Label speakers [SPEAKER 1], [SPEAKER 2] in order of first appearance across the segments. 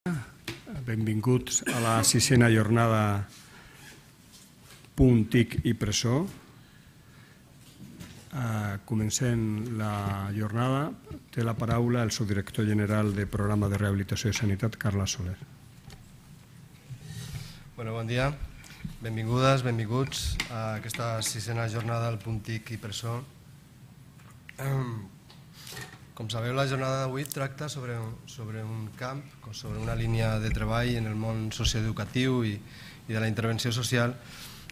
[SPEAKER 1] Benvinguts a la 6a jornada Punt, TIC i Presó. Comencem la jornada. Té la paraula el subdirector general de Programa de Rehabilitació i Sanitat, Carla Soler.
[SPEAKER 2] Bon dia. Benvingudes, benvinguts a aquesta 6a jornada del Punt, TIC i Presó. Com sabeu, la jornada d'avui tracta sobre un camp, sobre una línia de treball en el món socioeducatiu i de la intervenció social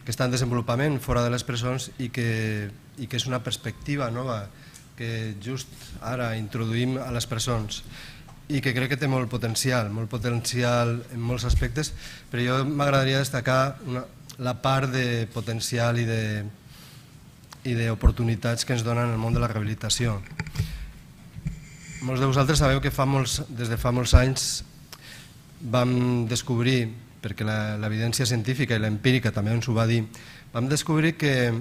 [SPEAKER 2] que està en desenvolupament fora de les presons i que és una perspectiva nova que just ara introduïm a les presons i que crec que té molt potencial en molts aspectes, però jo m'agradaria destacar la part de potencial i d'oportunitats que ens donen el món de la rehabilitació. Molts de vosaltres sabeu que des de fa molts anys vam descobrir, perquè l'evidència científica i l'empírica també ens ho va dir, vam descobrir que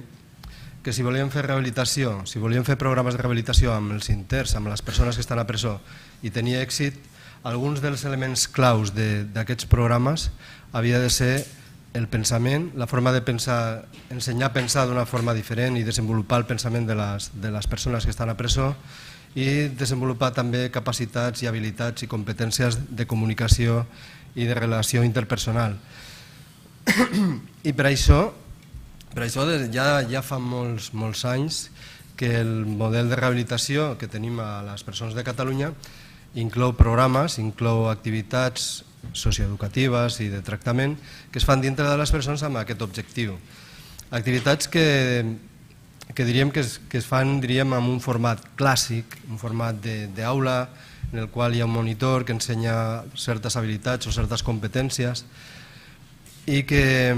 [SPEAKER 2] si volíem fer rehabilitació, si volíem fer programes de rehabilitació amb els interns, amb les persones que estan a presó i tenir èxit, alguns dels elements claus d'aquests programes havia de ser el pensament, la forma de pensar, ensenyar a pensar d'una forma diferent i desenvolupar el pensament de les persones que estan a presó i desenvolupar també capacitats i habilitats i competències de comunicació i de relació interpersonal. I per això ja fa molts anys que el model de rehabilitació que tenim a les presons de Catalunya inclou programes, inclou activitats socioeducatives i de tractament que es fan dintre de les presons amb aquest objectiu. Activitats que diríem que es fan en un format clàssic, un format d'aula en el qual hi ha un monitor que ensenya certes habilitats o certes competències i que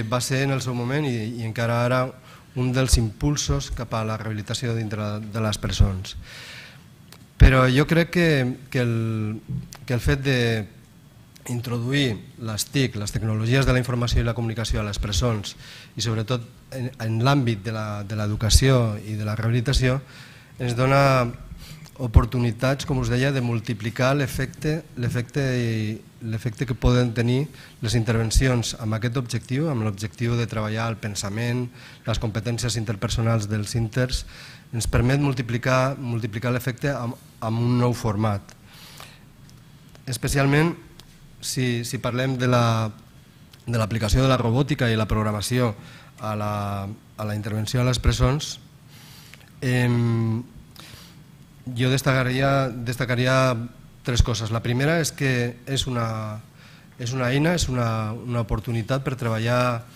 [SPEAKER 2] va ser en el seu moment i encara ara un dels impulsos cap a la rehabilitació dintre de les presons. Però jo crec que el fet d'introduir les TIC, les tecnologies de la informació i la comunicació a les presons i sobretot en l'àmbit de l'educació i de la rehabilitació ens dona oportunitats, com us deia, de multiplicar l'efecte que poden tenir les intervencions amb aquest objectiu, amb l'objectiu de treballar el pensament, les competències interpersonals dels interns, ens permet multiplicar l'efecte amb un nou format. Especialment si parlem de l'aplicació de la robòtica i la programació a la intervenció a les presons, jo destacaria tres coses. La primera és que és una eina, és una oportunitat per treballar,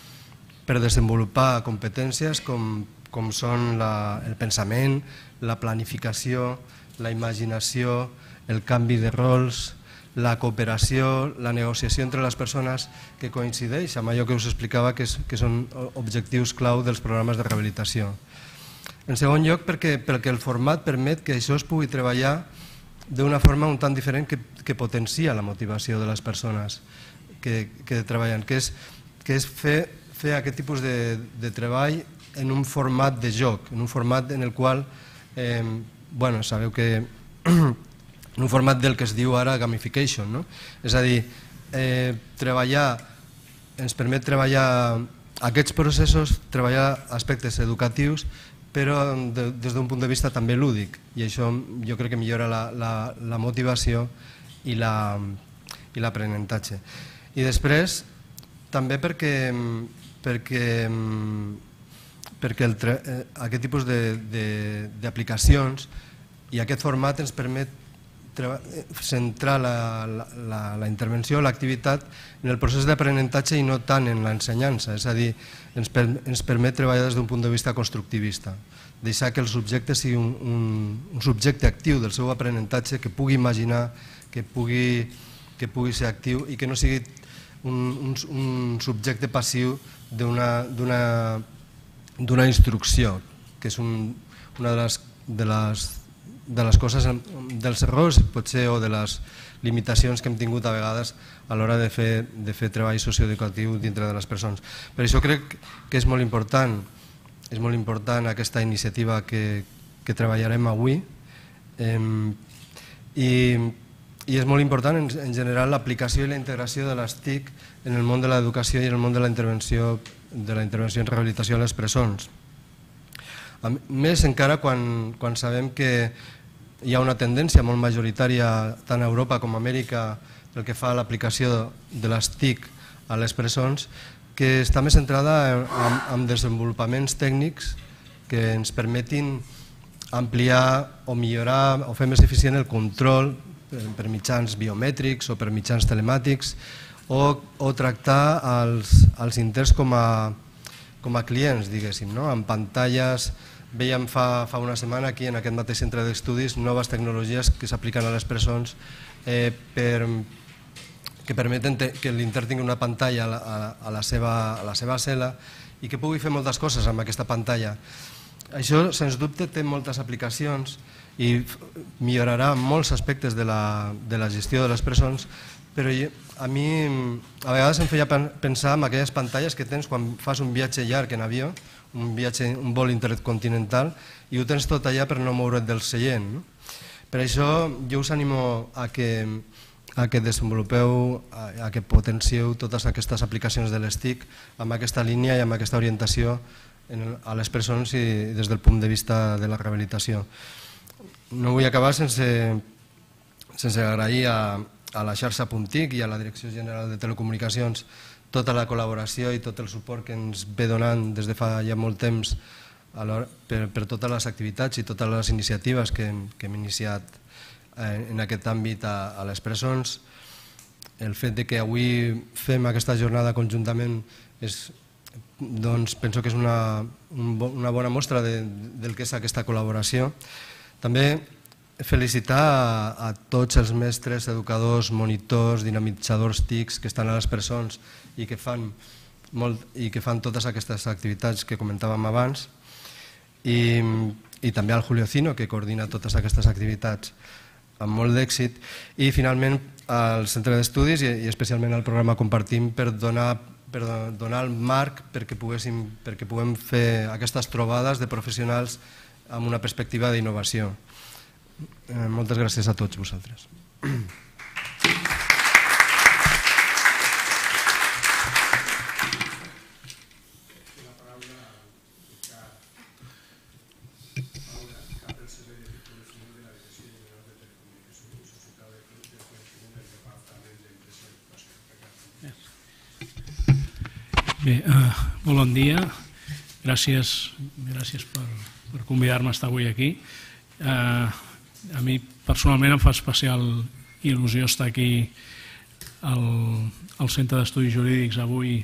[SPEAKER 2] per desenvolupar competències com són el pensament, la planificació, la imaginació, el canvi de rols, la cooperació, la negociació entre les persones, que coincideix amb allò que us explicava que són objectius clau dels programes de rehabilitació. En segon lloc, perquè el format permet que això es pugui treballar d'una forma un tant diferent que potencia la motivació de les persones que treballen, que és fer aquest tipus de treball en un format de joc, en un format en el qual, sabeu que en un format del que es diu ara gamification, és a dir, ens permet treballar aquests processos, treballar aspectes educatius, però des d'un punt de vista també lúdic, i això jo crec que millora la motivació i l'aprenentatge. I després, també perquè aquest tipus d'aplicacions i aquest format ens permet centrar la intervenció, l'activitat en el procés d'aprenentatge i no tant en l'ensenyança, és a dir, ens permet treballar des d'un punt de vista constructivista, deixar que el subjecte sigui un subjecte actiu del seu aprenentatge, que pugui imaginar, que pugui ser actiu i que no sigui un subjecte passiu d'una instrucció, que és una de les coses, dels errors potser o de les limitacions que hem tingut a vegades a l'hora de fer treball socioeducatiu dintre de les persones. Per això crec que és molt important aquesta iniciativa que treballarem avui i i és molt important en general l'aplicació i la integració de les TIC en el món de l'educació i en el món de la intervenció en rehabilitació a les presons. Més encara quan sabem que hi ha una tendència molt majoritària tant a Europa com a Amèrica pel que fa a l'aplicació de les TIC a les presons, que està més centrada en desenvolupaments tècnics que ens permetin ampliar o millorar o fer més eficient el control per mitjans biomètrics o per mitjans telemàtics o tractar els interns com a clients, diguéssim, amb pantalles. Veiem fa una setmana aquí en aquest mateix centre d'estudis noves tecnologies que s'apliquen a les presons que permeten que l'intern tingui una pantalla a la seva cel·la i que pugui fer moltes coses amb aquesta pantalla. Això, sens dubte, té moltes aplicacions i millorarà molts aspectes de la gestió de les presons, però a mi a vegades em feia pensar en aquelles pantalles que tens quan fas un viatge llarg en avió, un vol intercontinental, i ho tens tot allà per no moure't del seient. Per això jo us animo a que desenvolupeu, a que potencieu totes aquestes aplicacions de les TIC amb aquesta línia i amb aquesta orientació a les presons i des del punt de vista de la rehabilitació. No vull acabar sense agrair a la xarxa .TIC i a la Direcció General de Telecomunicacions tota la col·laboració i tot el suport que ens ve donant des de fa ja molt temps per totes les activitats i totes les iniciatives que hem iniciat en aquest àmbit a les presons. El fet que avui fem aquesta jornada conjuntament penso que és una bona mostra del que és aquesta col·laboració. També felicitar a tots els mestres, educadors, monitors, dinamitzadors TICs que estan a les presons i que fan totes aquestes activitats que comentàvem abans, i també al Julio Cino, que coordina totes aquestes activitats amb molt d'èxit, i finalment al Centre d'Estudis i especialment al programa Compartim per donar el marc perquè puguem fer aquestes trobades de professionals amb una perspectiva d'innovació. Moltes gràcies a tots vosaltres.
[SPEAKER 3] Bé, molt bon dia. Gràcies per convidar-me a estar avui aquí. A mi personalment em fa especial il·lusió estar aquí al Centre d'Estudis Jurídics avui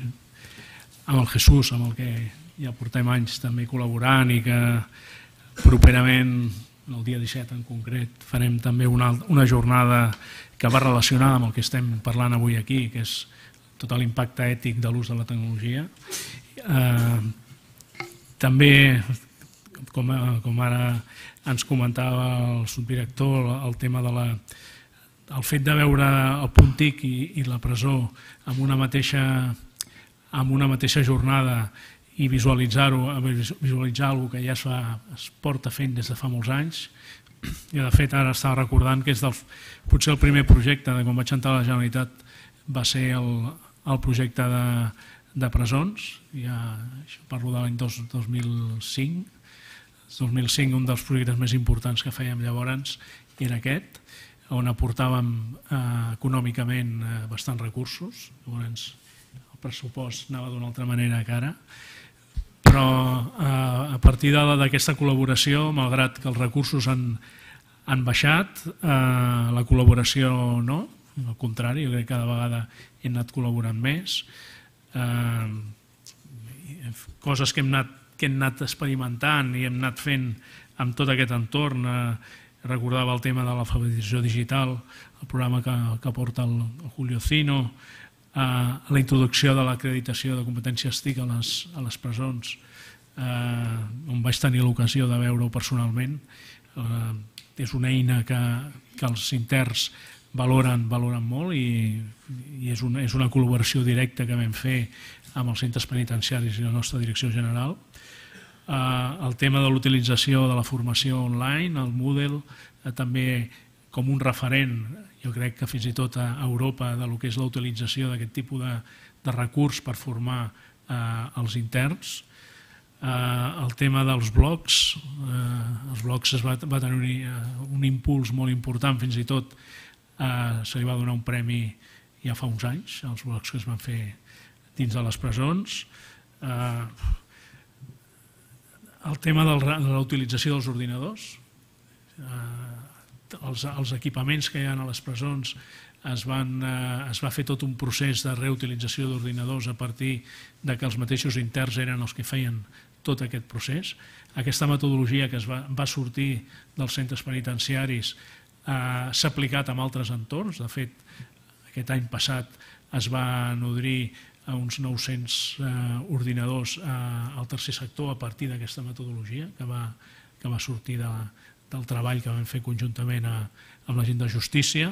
[SPEAKER 3] amb el Jesús, amb el que ja portem anys també col·laborant i que properament, el dia 17 en concret, farem també una jornada que va relacionada amb el que estem parlant avui aquí, que és tot l'impacte ètic de l'ús de la tecnologia. També, com ara ens comentava el subdirector, el tema del fet de veure el .TIC i la presó en una mateixa jornada i visualitzar alguna que ja es porta fent des de fa molts anys. Jo, de fet, ara estava recordant que és potser el primer projecte de quan vaig entrar a la Generalitat va ser el projecte de presons, parlo de l'any 2005. 2005 un dels projectes més importants que fèiem llavors era aquest, on aportàvem econòmicament bastants recursos. Llavors el pressupost anava d'una altra manera que ara, però a partir d'aquesta col·laboració, malgrat que els recursos han baixat, la col·laboració no, al contrari, jo crec que cada vegada hem anat col·laborant més. Coses que hem anat experimentant i hem anat fent amb tot aquest entorn. Recordava el tema de l'alfabetització digital, el programa que porta el Julio Cino, la introducció de l'acreditació de competències TIC a les presons, on vaig tenir l'ocasió de veure-ho personalment. És una eina que els interns valoren molt i és una col·laboració directa que vam fer amb els centres penitenciaris i la nostra direcció general. El tema de l'utilització de la formació online, el Moodle, també com un referent, jo crec que fins i tot a Europa, de lo que és la utilització d'aquest tipus de recurs per formar els interns. El tema dels blogs, els blogs va tenir un impuls molt important, fins i tot se li va donar un premi ja fa uns anys, els blogs que es van fer dins de les presons. El tema de la utilització dels ordinadors, els equipaments que hi ha a les presons, es va fer tot un procés de reutilització d'ordinadors a partir que els mateixos interns eren els que feien tot aquest procés. Aquesta metodologia que va sortir dels centres penitenciaris s'ha aplicat en altres entorns. De fet, aquest any passat es va nodrir a uns 900 ordinadors al tercer sector a partir d'aquesta metodologia que va sortir del treball que vam fer conjuntament amb la gent de justícia,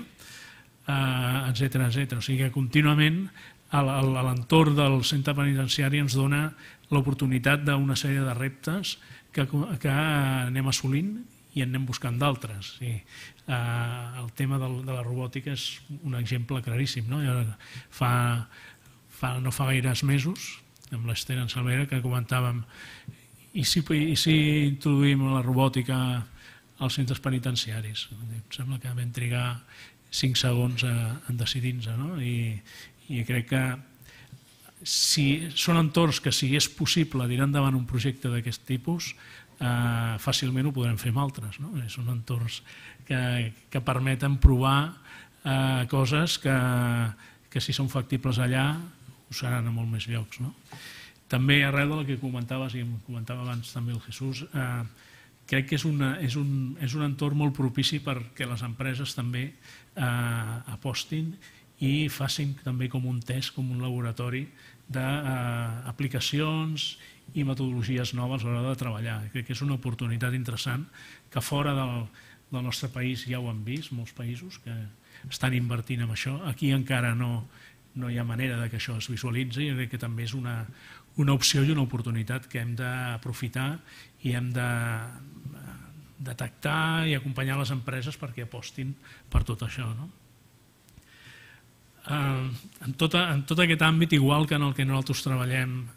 [SPEAKER 3] etcètera. O sigui que contínuament l'entorn del centre penitenciari ens dona l'oportunitat d'una sèrie de reptes que anem assolint i en anem buscant d'altres. El tema de la robòtica és un exemple claríssim. No fa gaires mesos, amb l'Ester en Salvera, que comentàvem i si introduïm la robòtica als centres penitenciaris. Em sembla que vam trigar 5 segons en decidir-nos, i crec que són entorns que si és possible tirar endavant un projecte d'aquest tipus, fàcilment ho podrem fer amb altres. Són entorns que permeten provar coses que si són factibles allà ho seran a molt més llocs. També arrel del que comentaves, i em comentava abans també el Jesús, crec que és un entorn molt propici perquè les empreses també apostin i facin també com un test, com un laboratori d'aplicacions i metodologies noves a l'hora de treballar. Crec que és una oportunitat interessant que fora del nostre país ja ho han vist, molts països que estan invertint en això. Aquí encara no hi ha manera que això es visualitzi, i crec que també és una opció i una oportunitat que hem d'aprofitar i hem de detectar i acompanyar les empreses perquè apostin per tot això. En tot aquest àmbit, igual que en el que nosaltres treballem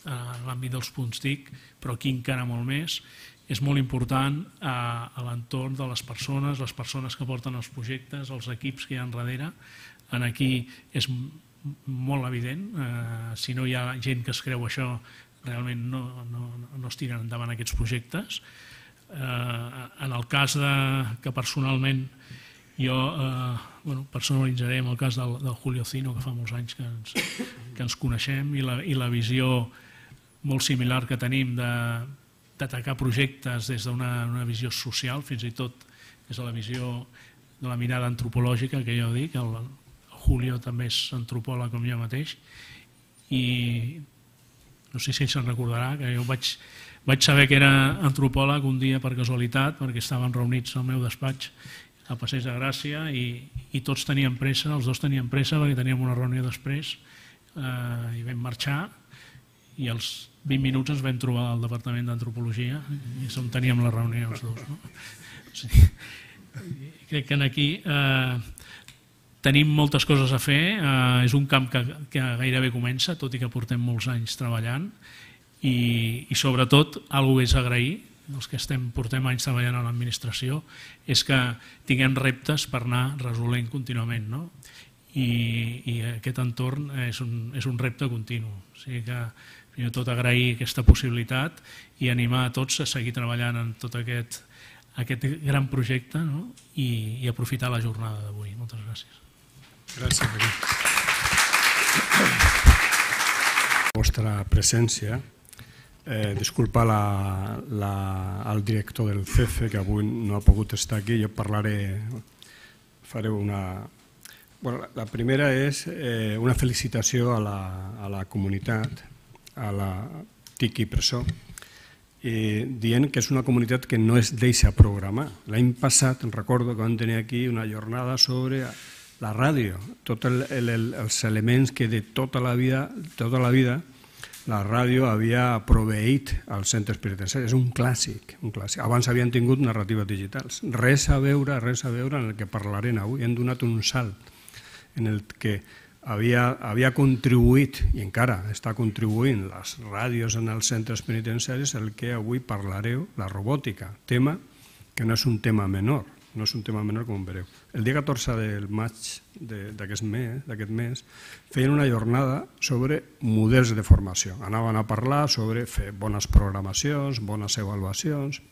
[SPEAKER 3] en l'àmbit dels punts TIC, però aquí encara molt més, és molt important a l'entorn de les persones que porten els projectes, els equips que hi ha darrere. Aquí és molt evident, si no hi ha gent que es creu això, realment no es tiren endavant aquests projectes. En el cas que personalment jo personalitzaré en el cas del Julio Cino, que fa molts anys que ens coneixem, i la visió molt similar que tenim d'atacar projectes des d'una visió social, fins i tot des de la visió de la mirada antropològica, que jo dic. El Julio també és antropòleg com jo mateix, i no sé si se'n recordarà que jo vaig saber que era antropòleg un dia per casualitat, perquè estaven reunits al meu despatx a Passeig de Gràcia i tots teníem pressa, els dos teníem pressa perquè teníem una reunió després, i vam marxar, i als 20 minuts ens vam trobar al Departament d'Antropologia i és on teníem la reunió els dos. Crec que aquí tenim moltes coses a fer, és un camp que gairebé comença, tot i que portem molts anys treballant, i sobretot, alguna cosa és agrair, els que portem anys treballant a l'administració, és que tinguem reptes per anar resolent contínuament, i aquest entorn és un repte continu. O sigui que, primer de tot, agrair aquesta possibilitat i animar a tots a seguir treballant en tot aquest gran projecte, i aprofitar la jornada d'avui. Moltes gràcies.
[SPEAKER 1] Gràcies, Paquí. La vostra presència. Disculpa al director del CEFE, que avui no ha pogut estar aquí. Jo faré una... La primera és una felicitació a la comunitat, a la TIC i Presó, dient que és una comunitat que no es deixa programar. L'any passat, recordo que vam tenir aquí una jornada sobre la ràdio, tots els elements que de tota la vida la ràdio havia proveït als centres penitenciaris. És un clàssic, un clàssic. Abans havien tingut narratives digitals. Res a veure en el que parlarem avui. Hem donat un salt en el que havia contribuït, i encara està contribuint, les ràdios en els centres penitenciaris, el que avui parlareu, la robòtica, tema que no és un tema menor, no és un tema menor com veureu. El dia 14 del maig d'aquest mes feien una jornada sobre models de formació. Anaven a parlar sobre fer bones programacions, bones avaluacions,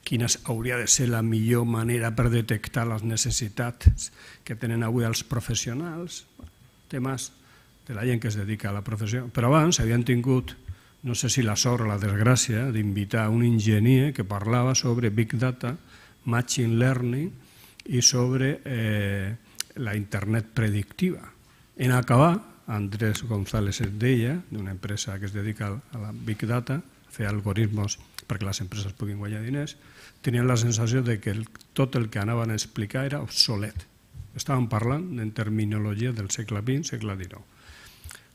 [SPEAKER 1] quina hauria de ser la millor manera per detectar les necessitats que tenen avui els professionals, temes de la gent que es dedica a la professió. Però abans havien tingut, no sé si la sort o la desgràcia, d'invitar un enginyer que parlava sobre Big Data, Machine Learning i sobre la internet predictiva. En acabar, Andrés González es deia, d'una empresa que es dedica a la Big Data, a fer algoritmes perquè les empreses puguin guanyar diners, tenien la sensació de que tot el que anaven a explicar era obsolet. Estaven parlant en terminologia del segle XX, segle XIX.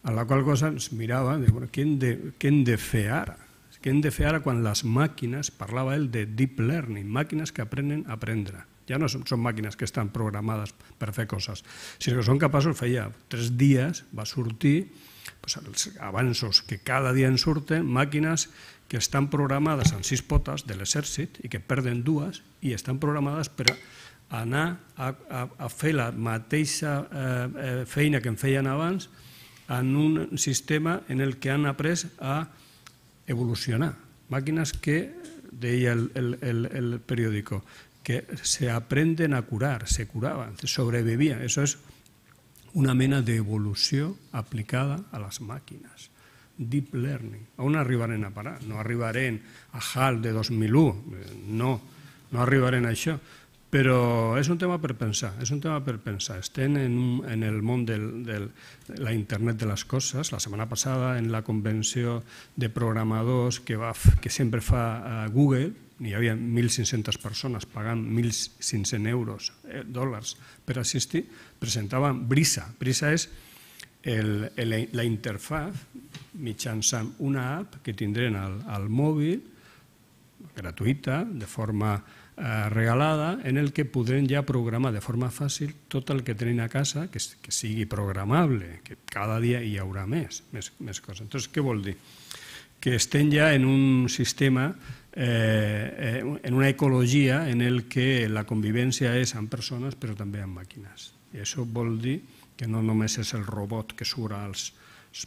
[SPEAKER 1] A la qual cosa ens miraven i diuen, què hem de fer ara? Què hem de fer ara quan les màquines, parlava ell de deep learning, màquines que aprenen a aprendre. Ja no són màquines que estan programades per fer coses, sinó que són capaços, feia 3 dies, va sortir els avanços que cada dia en surten, màquines que estan programades en 6 potes de l'exèrcit i que perden 2 i estan programades per anar a fer la mateixa feina que en feien abans en un sistema en el que han après a evolucionar. Màquines que, deia el periòdico, que se aprenden a curar, se curaban, sobrevivían. Eso es una mena d'evolució aplicada a les màquines. Deep learning. On arribarem a parar? No arribarem a HAL de 2001, no arribarem a això, però és un tema per pensar, Estem en el món de la internet de les coses. La setmana passada, en la convenció de programadors que sempre fa Google, hi havia 1.500 persones pagant 1.500 dòlars per assistir, presentaven Brisa. Brisa és la interfaz mitjançant una app que tindrem al mòbil, gratuïta, de forma regalada, en el que podrem ja programar de forma fàcil tot el que tenim a casa, que sigui programable, que cada dia hi haurà més coses. Entonces, què vol dir? Que estem ja en un sistema, en una ecologia en el que la convivència és amb persones però també amb màquines. I això vol dir que no només és el robot que surt als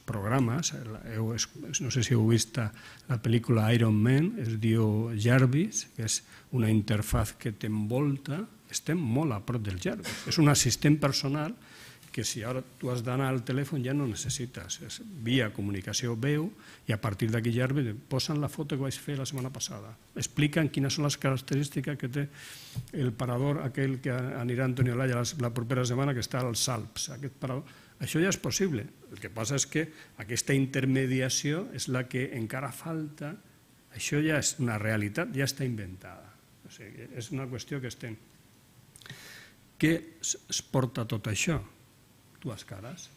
[SPEAKER 1] programes, no sé si heu vist la pel·lícula Iron Man, es diu Jarvis, que és una interfaz que t'envolta, estem molt a prop del Jarvis. És un assistent personal que si ara tu has d'anar al telèfon ja no necessites, és via comunicació veu i a partir d'aquí Jarvis posen la foto que vaig fer la setmana passada, expliquen quines són les característiques que té el parador aquell que anirà a Antonio Laya la propera setmana, que està als Alps, aquest parador. Això ja és possible, el que passa és que aquesta intermediació és la que encara falta, això ja és una realitat, ja està inventada, o sigui, és una qüestió que estem. Què es porta tot això? Dues cares.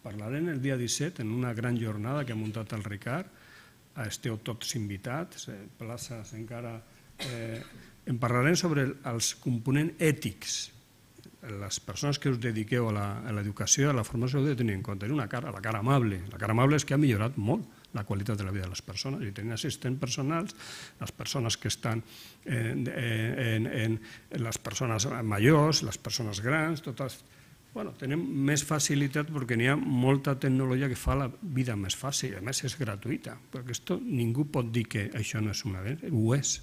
[SPEAKER 1] Parlarem el dia 17 en una gran jornada que ha muntat el Ricard, esteu tots invitats, places encara... En parlarem sobre els components ètics. Les persones que us dediqueu a l'educació, a la formació, heu de tenir en compte la cara amable. La cara amable és que ha millorat molt la qualitat de la vida de les persones. I tenir assistents personals, les persones que estan les persones majors, les persones grans, totes... Tenim més facilitat perquè n'hi ha molta tecnologia que fa la vida més fàcil, a més és gratuïta, perquè ningú pot dir que això no és una vegada, ho és,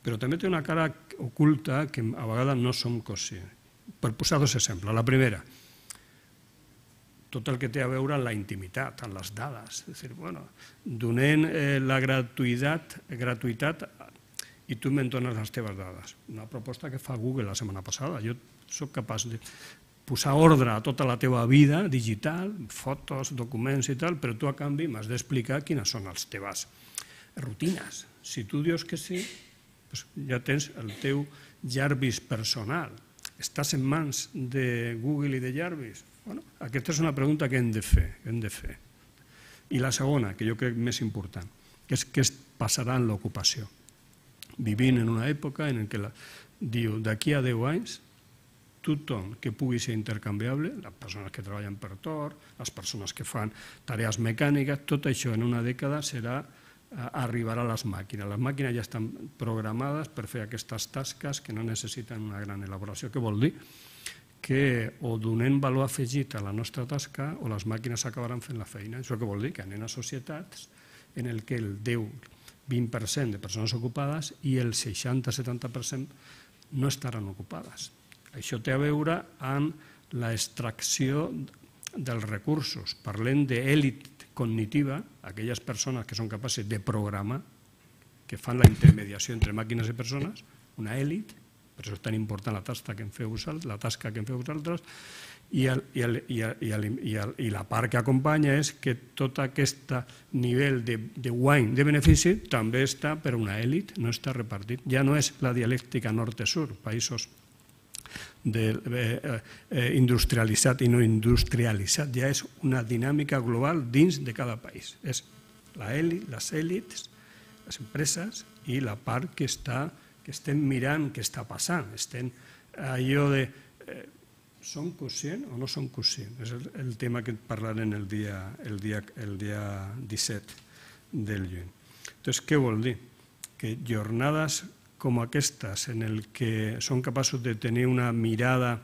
[SPEAKER 1] però també té una cara oculta que a vegades no som conscients. Per posar 2 exemples. La primera, tot el que té a veure amb la intimitat, amb les dades. És a dir, donem la gratuïtat i tu me'n dones les teves dades. Una proposta que fa Google la setmana passada. Jo soc capaç de posar ordre a tota la teva vida digital, fotos, documents i tal, però tu a canvi m'has d'explicar quines són les teves rutines. Si tu dius que sí, ja tens el teu Jarvis personal. Estàs en mans de Google i de Jarvis? Aquesta és una pregunta que hem de fer. I la segona, que jo crec més important, és què passarà en l'ocupació. Vivim en una època en què diu d'aquí a 10 anys tothom que pugui ser intercanviable, les persones que treballen per torn, les persones que fan tarees mecàniques, tot això en una dècada arribarà a les màquines. Les màquines ja estan programades per fer aquestes tasques que no necessiten una gran elaboració. Què vol dir? Que o donem valor afegit a la nostra tasca o les màquines acabaran fent la feina. Això què vol dir? Que anem a societats en què el 10-20% de persones ocupades i el 60-70% no estaran ocupades. Això té a veure amb l'extracció dels recursos. Parlem d'èlit cognitiva, aquelles persones que són capaces de programar, que fan la intermediació entre màquines i persones, una èlit, per això és tan important la tasca que en feu vosaltres, i la part que acompanya és que tot aquest nivell de guany de benefici també està per una èlit, no està repartit. Ja no és la dialèctica nord-sud, països industrialitzat i no industrialitzat, ja és una dinàmica global dins de cada país. És les èlits, les empreses i la part que estem mirant què està passant. Estem allò de som conscients o no som conscients? És el tema que parlarem el dia 17 del juny. Doncs què vol dir? Que jornades com aquestes, en què són capaços de tenir una mirada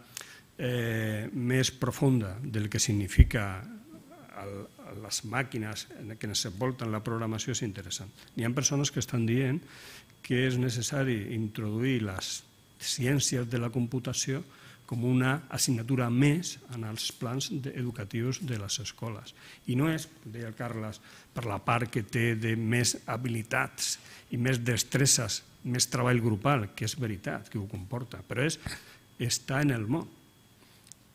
[SPEAKER 1] més profunda del que significa les màquines que ens envolten la programació, és interessant. Hi ha persones que estan dient que és necessari introduir les ciències de la computació com una assignatura més en els plans educatius de les escoles. I no és, deia el Carles, per la part que té de més habilitats i més destresses, més treball grupal, que és veritat, que ho comporta, però és estar en el món,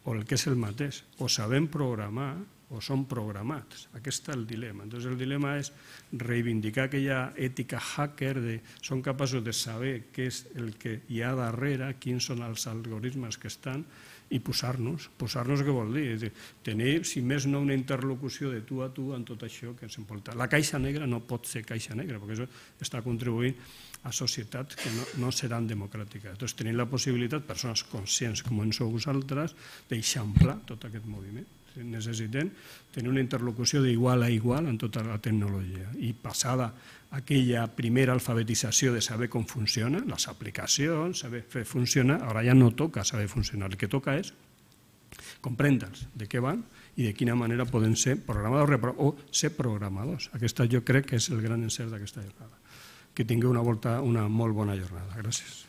[SPEAKER 1] o el que és el mateix, o sabem programar o són programats. Aquest és el dilema. Llavors el dilema és reivindicar aquella ètica hacker de són capaços de saber què és el que hi ha darrere, quins són els algoritmes que estan, i posar-nos. Posar-nos què vol dir? Tenir, si més no, una interlocució de tu a tu en tot això que ens envolta. La caixa negra no pot ser caixa negra, perquè això està contribuint a societats que no seran democràtiques. Llavors tenim la possibilitat, persones conscients com en sou vosaltres, d'eixamplar tot aquest moviment. Necessitem tenir una interlocució d'igual a igual en tota la tecnologia i passada aquella primera alfabetització de saber com funciona, les aplicacions, saber fer funcionar, ara ja no toca saber funcionar, el que toca és comprendre'ls de què van i de quina manera poden ser programadors o ser programadors. Aquesta jo crec que és el gran encert d'aquesta jornada. Que tingueu una molt bona jornada. Gràcies.